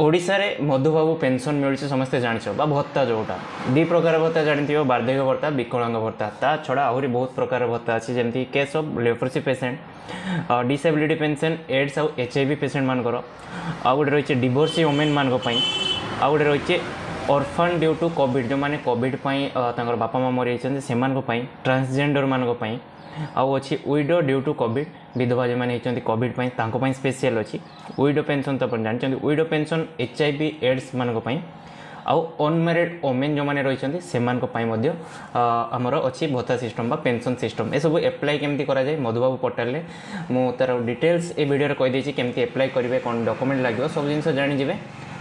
ଓଡ଼ିଶାରେ ମଧୁବାବୁ ପେନ୍ସନ୍ ମିଳୁଛି, ସମସ୍ତେ ଜାଣିଛ, ବା ଭତ୍ତା ଯେଉଁଟା ଦୁଇ ପ୍ରକାର ଭତ୍ତା ଜାଣିଥିବ, ବାର୍ଦ୍ଧକ୍ୟ ଭତ୍ତା, ବିକଳାଙ୍ଗ ଭତ୍ତା। ତା ଛଡ଼ା ଆହୁରି ବହୁତ ପ୍ରକାର ଭତ୍ତା ଅଛି, ଯେମିତି case of leprosy patient, disability pension, AIDS ଆଉ HIV ପେସେଣ୍ଟମାନଙ୍କର। ଆଉ ଗୋଟେ ରହିଛି ଡିଭୋର୍ସି ଓମେନ୍ମାନଙ୍କ ପାଇଁ। ଆଉ ଗୋଟେ ରହିଛି ଅର୍ଫାନ୍ ଡ୍ୟୁ ଟୁ କୋଭିଡ଼, ଯେଉଁମାନେ କୋଭିଡ଼ ପାଇଁ ତାଙ୍କର ବାପା ମା' ମରିଯାଇଛନ୍ତି ସେମାନଙ୍କ ପାଇଁ, ଟ୍ରାନ୍ସଜେଣ୍ଡରମାନଙ୍କ ପାଇଁ। ଆଉ ଅଛି ୱିଡୋ ଡ୍ୟୁ ଟୁ କୋଭିଡ଼, ବିଧବା ଯେଉଁମାନେ ହେଇଛନ୍ତି କୋଭିଡ଼ ପାଇଁ ତାଙ୍କ ପାଇଁ ସ୍ପେଶିଆଲ୍ ଅଛି। ୱିଡୋ ପେନ୍ସନ୍ ତ ଆପଣ ଜାଣିଛନ୍ତି, ୱିଡୋ ପେନ୍ସନ୍ HIV AIDS ମାନଙ୍କ ପାଇଁ। ଆଉ ଅନମ୍ୟାରିଡ଼ ଓମେନ୍ ଯେଉଁମାନେ ରହିଛନ୍ତି ସେମାନଙ୍କ ପାଇଁ ମଧ୍ୟ ଆମର ଅଛି ଭତ୍ତା ସିଷ୍ଟମ୍ ବା ପେନ୍ସନ୍ ସିଷ୍ଟମ୍। ଏସବୁ ଆପ୍ଲାଏ କେମିତି କରାଯାଏ ମଧୁବାବୁ ପୋର୍ଟାଲରେ ମୁଁ ତା'ର ଡିଟେଲ୍ସ ଏ ଭିଡ଼ିଓରେ କହିଦେଇଛି, କେମିତି ଆପ୍ଲାଏ କରିବେ, କ'ଣ ଡକୁମେଣ୍ଟ ଲାଗିବ, ସବୁ ଜିନିଷ ଜାଣିଯିବେ।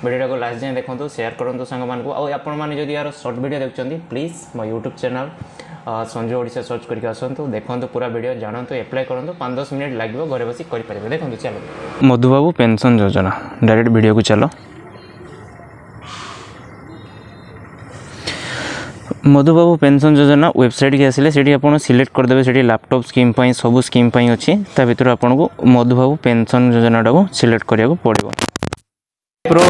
ଭିଡ଼ିଓଟାକୁ ଲାଷ୍ଟ ଯାଏଁ ଦେଖନ୍ତୁ, ସେୟାର କରନ୍ତୁ ସାଙ୍ଗମାନଙ୍କୁ। ଆଉ ଆପଣମାନେ ଯଦି ଏହାର ସର୍ଟ ଭିଡ଼ିଓ ଦେଖୁଛନ୍ତି, ପ୍ଲିଜ୍ ମୋ YouTube channel Sanju Odisha search କରିକି ଆସନ୍ତୁ, ଦେଖନ୍ତୁ ପୁରା ଭିଡ଼ିଓ, ଜାଣନ୍ତୁ, ଆପ୍ଲାଏ କରନ୍ତୁ। 5-10 ମିନିଟ୍ ଲାଗିବ, ଘରେ ବସି କରିପାରିବେ। ଦେଖନ୍ତୁ, ଚାଲ ମଧୁବାବୁ ପେନ୍ସନ୍ ଯୋଜନା ଡାଇରେକ୍ଟ ଭିଡ଼ିଓକୁ ଚାଲ। ମଧୁବାବୁ ପେନ୍ସନ୍ ଯୋଜନା ୱେବସାଇଟ୍କି ଆସିଲେ ସେଠି ଆପଣ ସିଲେକ୍ଟ କରିଦେବେ। ସେଠି ଲ୍ୟାପଟପ୍ ସ୍କିମ୍ ପାଇଁ, ସବୁ ସ୍କିମ୍ ପାଇଁ ଅଛି। ତା ଭିତରୁ ଆପଣଙ୍କୁ ମଧୁବାବୁ ପେନ୍ସନ୍ ଯୋଜନାଟାକୁ ସିଲେକ୍ଟ କରିବାକୁ ପଡ଼ିବ। ପ୍ରୋ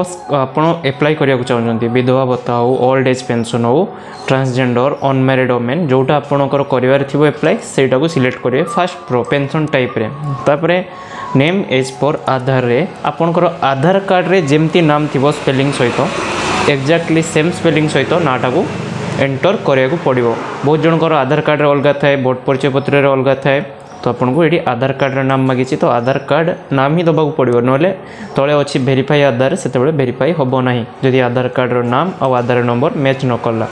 ଆପଣ ଆପ୍ଲାଏ କରିବାକୁ ଚାହୁଁଛନ୍ତି, ବିଧବା ଭତ୍ତା ହେଉ, ଓଲ୍ଡ ଏଜ୍ ପେନ୍ସନ୍ ହେଉ, ଟ୍ରାନ୍ସଜେଣ୍ଡର, ଅନମ୍ୟାରିଡ଼ ଓମେନ୍, ଯେଉଁଟା ଆପଣଙ୍କର କରିବାର ଥିବ ଆପ୍ଲାଏ ସେଇଟାକୁ ସିଲେକ୍ଟ କରିବେ ଫାର୍ଷ୍ଟ ପ୍ରୋ ପେନ୍ସନ୍ ଟାଇପ୍ରେ। ତାପରେ ନେମ୍ ଏଜ୍ ପର୍ ଆଧାରରେ ଆପଣଙ୍କର ଆଧାର କାର୍ଡ଼ରେ ଯେମିତି ନାମ ଥିବ ସ୍ପେଲିଂ ସହିତ, ଏକ୍ଜାକ୍ଟଲି ସେମ୍ ସ୍ପେଲିଂ ସହିତ ନାଁଟାକୁ ଏଣ୍ଟର କରିବାକୁ ପଡ଼ିବ। ବହୁତ ଜଣଙ୍କର ଆଧାର କାର୍ଡ଼ରେ ଅଲଗା ଥାଏ, ଭୋଟ ପରିଚୟ ପତ୍ରରେ ଅଲଗା ଥାଏ। ତ ଆପଣଙ୍କୁ ଏଠି ଆଧାର କାର୍ଡ଼ର ନାମ ମାଗିଛି, ତ ଆଧାର କାର୍ଡ଼ ନାମ ହିଁ ଦେବାକୁ ପଡ଼ିବ। ନହେଲେ ତଳେ ଅଛି ଭେରିଫାଇ ଆଧାର, ସେତେବେଳେ ଭେରିଫାଇ ହେବ ନାହିଁ ଯଦି ଆଧାର କାର୍ଡ଼ର ନାମ ଆଉ ଆଧାର ନମ୍ବର ମ୍ୟାଚ୍ ନ କଲା।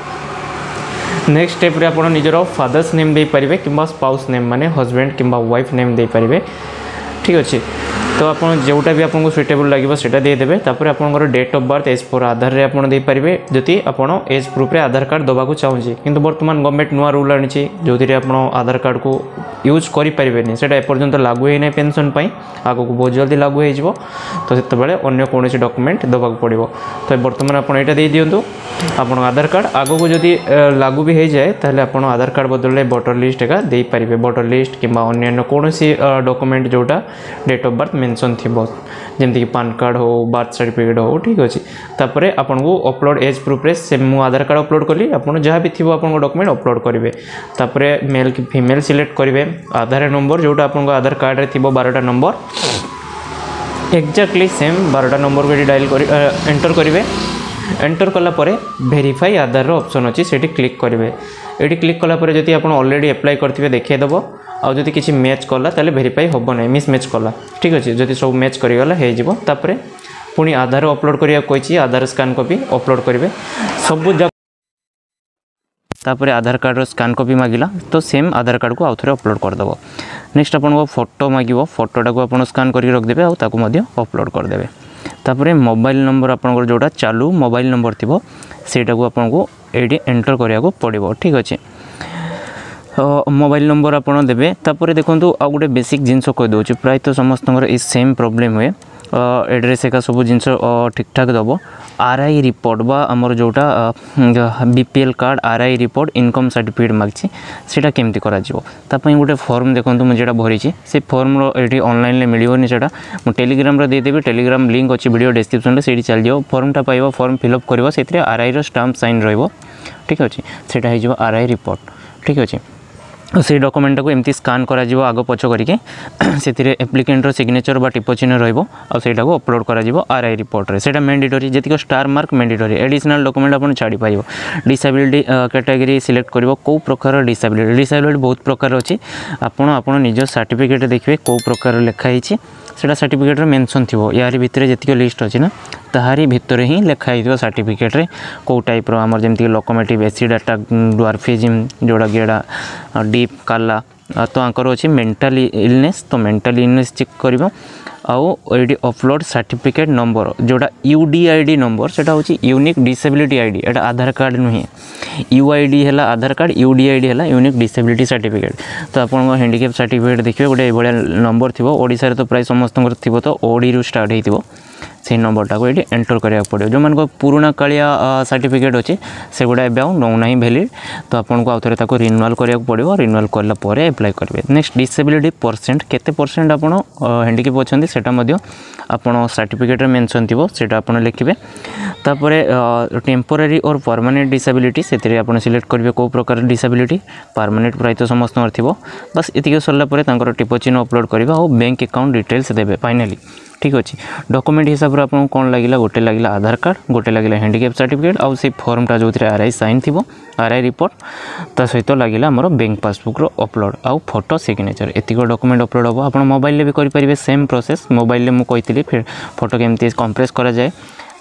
ନେକ୍ସଟ ଷ୍ଟେପ୍ରେ ଆପଣ ନିଜର ଫାଦର୍ସ ନେମ୍ ଦେଇପାରିବେ କିମ୍ବା ସ୍ପାଉସ୍ ନେମ୍, ମାନେ ହଜବେଣ୍ଡ କିମ୍ବା ୱାଇଫ୍ ନେମ୍ ଦେଇପାରିବେ। ଠିକ୍ ଅଛି, ତ ଆପଣ ଯେଉଁଟା ବି ଆପଣଙ୍କୁ ସୁଇଟେବୁଲ୍ ଲାଗିବ ସେଇଟା ଦେଇଦେବେ। ତାପରେ ଆପଣଙ୍କର date of birth age per ଆଧାରରେ ଆପଣ ଦେଇପାରିବେ, ଯଦି ଆପଣ ଏଜ୍ ପ୍ରୁଫ୍ରେ ଆଧାର କାର୍ଡ଼ ଦେବାକୁ ଚାହୁଁଛି। କିନ୍ତୁ ବର୍ତ୍ତମାନ ଗଭର୍ଣ୍ଣମେଣ୍ଟ ନୂଆ ରୁଲ୍ ଆଣିଛି ଯେଉଁଥିରେ ଆପଣ ଆଧାର କାର୍ଡ଼କୁ ୟୁଜ୍ କରିପାରିବେନି। ସେଇଟା ଏପର୍ଯ୍ୟନ୍ତ ଲାଗୁ ହୋଇନାହିଁ ପେନ୍ସନ୍ ପାଇଁ, ଆଗକୁ ବହୁତ ଜଲ୍ଦି ଲାଗୁ ହୋଇଯିବ। ତ ସେତେବେଳେ ଅନ୍ୟ କୌଣସି ଡକୁମେଣ୍ଟ ଦେବାକୁ ପଡ଼ିବ। ତ ବର୍ତ୍ତମାନ ଆପଣ ଏଇଟା ଦେଇଦିଅନ୍ତୁ ଆପଣଙ୍କ ଆଧାର କାର୍ଡ଼। ଆଗକୁ ଯଦି ଲାଗୁ ବି ହେଇଯାଏ ତାହେଲେ ଆପଣ ଆଧାର କାର୍ଡ଼ ବଦଳରେ ଭୋଟର ଲିଷ୍ଟ ଏକା ଦେଇପାରିବେ, ଭୋଟର ଲିଷ୍ଟ କିମ୍ବା ଅନ୍ୟାନ୍ୟ କୌଣସି ଡକୁମେଣ୍ଟ ଯେଉଁଟା ଡେଟ୍ ଅଫ୍ ବାର୍ଥ ମେନସନ୍ ଥିବ, ଯେମିତିକି ପାନ୍ କାର୍ଡ଼ ହେଉ, ବାର୍ଥ ସାର୍ଟିଫିକେଟ୍ ହେଉ। ଠିକ୍ ଅଛି, ତାପରେ ଆପଣଙ୍କୁ ଅପଲୋଡ଼ ଏଜ୍ ପ୍ରୁଫ୍ରେ ସେ ମୁଁ ଆଧାର କାର୍ଡ଼ ଅପଲୋଡ଼ କଲି, ଆପଣ ଯାହା ବି ଥିବ ଆପଣଙ୍କ ଡକୁମେଣ୍ଟ ଅପଲୋଡ଼ କରିବେ। ତାପରେ ମେଲ୍ କି ଫିମେଲ୍ ସିଲେକ୍ଟ କରିବେ, ଆଧାର ନମ୍ବର ଯେଉଁଟା ଆପଣଙ୍କ ଆଧାର କାର୍ଡ଼ରେ ଥିବ 12ଟା ନମ୍ବର, ଏକ୍ଜାକ୍ଟଲି ସେମ୍ 12ଟା ନମ୍ବରକୁ ଏଠି ଡାଇଲ୍ କରି ଏଣ୍ଟର କରିବେ। ଏଣ୍ଟର କଲା ପରେ ଭେରିଫାଇ ଆଧାରର ଅପସନ୍ ଅଛି, ସେଠି କ୍ଲିକ୍ କରିବେ। ଏଠି କ୍ଲିକ୍ କଲା ପରେ ଯଦି ଆପଣ ଅଲରେଡ଼ି ଆପ୍ଲାଏ କରିଥିବେ ଦେଖାଇଦେବ, ଆଉ ଯଦି କିଛି ମ୍ୟାଚ୍ କଲା ତାହେଲେ ଭେରିଫାଇ ହେବ ନାହିଁ, ମିସ୍ ମ୍ୟାଚ୍ କଲା। ଠିକ୍ ଅଛି, ଯଦି ସବୁ ମ୍ୟାଚ୍ କରିଗଲା ହେଇଯିବ। ତାପରେ ପୁଣି ଆଧାର ଅପଲୋଡ଼ କରିବାକୁ କହିଛି, ଆଧାର ସ୍କାନ୍ କପି ଅପଲୋଡ଼ କରିବେ ସବୁ ଯାକ। ତାପରେ ଆଧାର କାର୍ଡ଼ର ସ୍କାନ୍ କପି ମାଗିଲା, ତ ସେମ୍ ଆଧାର କାର୍ଡ଼କୁ ଆଉ ଥରେ ଅପଲୋଡ଼ କରିଦେବ। ନେକ୍ସଟ ଆପଣଙ୍କ ଫଟୋ ମାଗିବ, ଫଟୋଟାକୁ ଆପଣ ସ୍କାନ୍ କରିକି ରଖିଦେବେ ଆଉ ତାକୁ ମଧ୍ୟ ଅପଲୋଡ଼ କରିଦେବେ। ତାପରେ ମୋବାଇଲ୍ ନମ୍ବର ଆପଣଙ୍କର ଯେଉଁଟା ଚାଲୁ ମୋବାଇଲ୍ ନମ୍ବର ଥିବ ସେଇଟାକୁ ଆପଣଙ୍କୁ ଏଇଠି ଏଣ୍ଟର କରିବାକୁ ପଡ଼ିବ। ଠିକ୍ ଅଛି, ମୋବାଇଲ୍ ନମ୍ବର ଆପଣ ଦେବେ। ତାପରେ ଦେଖନ୍ତୁ ଆଉ ଗୋଟେ ବେସିକ୍ ଜିନିଷ କହିଦେଉଛି, ପ୍ରାୟତଃ ସମସ୍ତଙ୍କର ଏଇ ସେମ୍ ପ୍ରୋବ୍ଲେମ୍ ହୁଏ। ଆଡ୍ରେସ୍ ଏକା ସବୁ ଜିନିଷ ଠିକ୍ଠାକ୍ ଦେବ। RI report ବା ଆମର ଯେଉଁଟା BPL card RI report income certificate ମାଗିଛି, ସେଇଟା କେମିତି କରାଯିବ ତା ପାଇଁ ଗୋଟେ ଫର୍ମ ଦେଖନ୍ତୁ ମୁଁ ଯେଉଁଟା ଭରିଛି ସେ ଫର୍ମର ଏଠି ଅନଲାଇନ୍ରେ ମିଳିବନି, ସେଇଟା ମୁଁ ଟେଲିଗ୍ରାମରେ ଦେଇଦେବି। ଟେଲିଗ୍ରାମ ଲିଙ୍କ୍ ଅଛି ଭିଡ଼ିଓ ଡେସ୍କ୍ରିପ୍ସନ୍ରେ, ସେଇଠି ଚାଲିଯିବ, ଫର୍ମଟା ପାଇବ, ଫର୍ମ ଫିଲ୍ଅପ୍ କରିବ, ସେଥିରେ RIର ଷ୍ଟାମ୍ପ ସାଇନ୍ ରହିବ। ଠିକ୍ ଅଛି, ସେଇଟା ହେଇଯିବ RI report. ଠିକ୍ ଅଛି, ସେଇ ଡକୁମେଣ୍ଟଟାକୁ ଏମିତି ସ୍କାନ୍ କରାଯିବ ଆଗ ପଛ କରିକି, ସେଥିରେ ଆପ୍ଲିକେଣ୍ଟର ସିଗ୍ନେଚର୍ ବା ଟିପ ଚିହ୍ନ ରହିବ ଆଉ ସେଇଟାକୁ ଅପଲୋଡ଼ କରାଯିବ RI ରିପୋର୍ଟରେ। ସେଇଟା ମ୍ୟାଣ୍ଡେଟୋରି, ଯେତିକି star mark mandatory, additional document ଆପଣ ଛାଡ଼ିପାରିବ। ଡିସାବିଲିଟି କ୍ୟାଟାଗୋରୀ ସିଲେକ୍ଟ କରିବ, କେଉଁ ପ୍ରକାର ଡିସାବିଲିଟି, ଡିସାବିଲିଟି ବହୁତ ପ୍ରକାର ଅଛି। ଆପଣ ନିଜ ସାର୍ଟିଫିକେଟ୍ ଦେଖିବେ କେଉଁ ପ୍ରକାର ଲେଖା ହେଇଛି, ସେଇଟା ସାର୍ଟିଫିକେଟ୍ରେ ମେନସନ୍ ଥିବ। ୟାରି ଭିତରେ ଯେତିକି ଲିଷ୍ଟ ଅଛି ନା, ତାହାରି ଭିତରେ ହିଁ ଲେଖା ହେଇଥିବ ସାର୍ଟିଫିକେଟ୍ରେ କେଉଁ ଟାଇପ୍ର, ଆମର ଯେମିତିକି ଲୋକୋମୋଟିଭ୍, ଏସିଡ୍ ଆଟାକ୍, ଡ୍ୱାର୍ଫିଜିମ୍ ଯେଉଁଟାକି ଏଇଟା ଡିପ୍ କାଲା, ତ ଆଙ୍କର ଅଛି ମେଣ୍ଟାଲି ଇଲନେସ୍, ତ ମେଣ୍ଟାଲି ଇଲନେସ୍ ଚେକ୍ କରିବ। ଆଉ ଏଇଠି ଅପଲୋଡ଼ ସାର୍ଟିଫିକେଟ୍ ନମ୍ବର ଯେଉଁଟା UDID number, ସେଇଟା ହେଉଛି ୟୁନିକ୍ ଡିସେବିଲିଟି ID, ଏଇଟା ଆଧାର କାର୍ଡ଼ ନୁହେଁ। UID ହେଲା ଆଧାର କାର୍ଡ଼, UDID ହେଲା ୟୁନିକ୍ ଡିସେବିଲିଟି ସାର୍ଟିଫିକେଟ୍। ତ ଆପଣଙ୍କ ହ୍ୟାଣ୍ଡିକ୍ୟାପ୍ ସାର୍ଟିଫିକେଟ୍ ଦେଖିବେ ଗୋଟେ ଏଇଭଳିଆ ନମ୍ବର ଥିବ, ଓଡ଼ିଶାରେ ତ ପ୍ରାୟ ସମସ୍ତଙ୍କର ଥିବ, ତ ODରୁ ଷ୍ଟାର୍ଟ ହେଇଥିବ, ସେଇ ନମ୍ବରଟାକୁ ଏଇଠି ଏଣ୍ଟର କରିବାକୁ ପଡ଼ିବ। ଯେଉଁମାନଙ୍କ ପୁରୁଣା କାଳିଆ ସାର୍ଟିଫିକେଟ୍ ଅଛି, ସେଗୁଡ଼ା ଏବେ ଆଉ ନେଉନାହିଁ ଭ୍ୟାଲିଡ଼। ତ ଆପଣଙ୍କୁ ଆଉ ଥରେ ତାକୁ ରିନ୍ୟୁଆଲ୍ କରିବାକୁ ପଡ଼ିବ। ରିନ୍ୟୁଆଲ୍ କଲା ପରେ ଆପ୍ଲାଏ କରିବେ। ନେକ୍ସଟ, ଡିସେବିଲିଟି ପରସେଣ୍ଟ, କେତେ ପରସେଣ୍ଟ ଆପଣ ହ୍ୟାଣ୍ଡିକ୍ୟାପ୍ ଅଛନ୍ତି, ସେଇଟା ମଧ୍ୟ ଆପଣ ସାର୍ଟିଫିକେଟ୍ରେ ମେନସନ୍ ଥିବ, ସେଇଟା ଆପଣ ଲେଖିବେ। ତାପରେ ଟେମ୍ପୋରାରୀ ଅର୍ ପରମାନେଣ୍ଟ ଡିସାବିଲିଟି, ସେଥିରେ ଆପଣ ସିଲେକ୍ଟ କରିବେ କେଉଁ ପ୍ରକାର ଡିସାବିଲିଟି। ପରମାନେଣ୍ଟ ପ୍ରାୟତଃ ସମସ୍ତଙ୍କର ଥିବ। ବାସ୍, ଏତିକି ସରିଲା ପରେ ତାଙ୍କର ଟିପ ଚିହ୍ନ ଅପଲୋଡ଼ କରିବେ ଆଉ ବ୍ୟାଙ୍କ ଆକାଉଣ୍ଟ ଡିଟେଲ୍ସ ଦେବେ ଫାଇନାଲି। ଠିକ୍ ଅଛି। ଡକୁମେଣ୍ଟ ହିସାବରେ ଆପଣଙ୍କୁ କ'ଣ ଲାଗିଲା? ଗୋଟେ ଲାଗିଲା ଆଧାର କାର୍ଡ଼, ଗୋଟେ ଲାଗିଲା ହ୍ୟାଣ୍ଡିକ୍ୟାପ୍ ସାର୍ଟିଫିକେଟ୍ ଆଉ ସେଇ ଫର୍ମଟା ଯେଉଁଥିରେ ଆର୍ I sign ଥିବ, ଆର୍ I report. ତା ସହିତ ଲାଗିଲା ଆମର ବ୍ୟାଙ୍କ ପାସବୁକ୍ର ଅପଲୋଡ଼ ଆଉ ଫଟୋ, ସିଗ୍ନେଚର୍। ଏତିକ ଡକୁମେଣ୍ଟ ଅପଲୋଡ଼ ହେବ। ଆପଣ ମୋବାଇଲରେ ବି କରିପାରିବେ ସେମ୍ ପ୍ରୋସେସ୍। ମୋବାଇଲରେ ମୁଁ କହିଥିଲି ଫଟୋ କେମିତି କମ୍ପ୍ରେସ୍ କରାଯାଏ।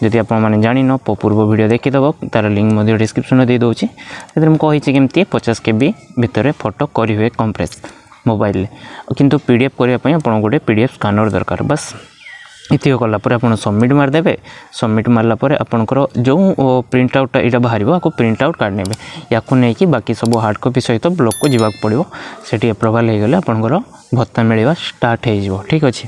ଯଦି ଆପଣମାନେ ଜାଣିନ, ପୂର୍ବ ଭିଡ଼ିଓ ଦେଖିଦେବ, ତା'ର ଲିଙ୍କ୍ ମଧ୍ୟ ଡିସ୍କ୍ରିପ୍ସନ୍ରେ ଦେଇଦେଉଛି। ସେଥିରେ ମୁଁ କହିଛି କେମିତି 50 କେବି ଭିତରେ ଫଟୋ କରିହୁଏ କମ୍ପ୍ରେସ୍ ମୋବାଇଲରେ। କିନ୍ତୁ ପିଡିଏଫ୍ କରିବା ପାଇଁ ଆପଣଙ୍କୁ ଗୋଟେ ପିଡିଏଫ୍ ସ୍କାନର୍ ଦରକାର। ବାସ୍, ଏତିକି କଲା ପରେ ଆପଣ ସବମିଟ୍ ମାରିଦେବେ। ସବମିଟ୍ ମାରିଲା ପରେ ଆପଣଙ୍କର ଯେଉଁ ପ୍ରିଣ୍ଟ ଆଉଟ୍ଟା ଏଇଟା ବାହାରିବ, ଆକୁ ପ୍ରିଣ୍ଟ ଆଉଟ୍ କାଢ଼ି ନେବେ। ୟାକୁ ନେଇକି ବାକି ସବୁ ହାର୍ଡ଼ କପି ସହିତ ବ୍ଲକ୍କୁ ଯିବାକୁ ପଡ଼ିବ। ସେଠି ଆପ୍ରୁଭାଲ୍ ହେଇଗଲେ ଆପଣଙ୍କର ଭତ୍ତା ମିଳିବା ଷ୍ଟାର୍ଟ ହେଇଯିବ। ଠିକ୍ ଅଛି।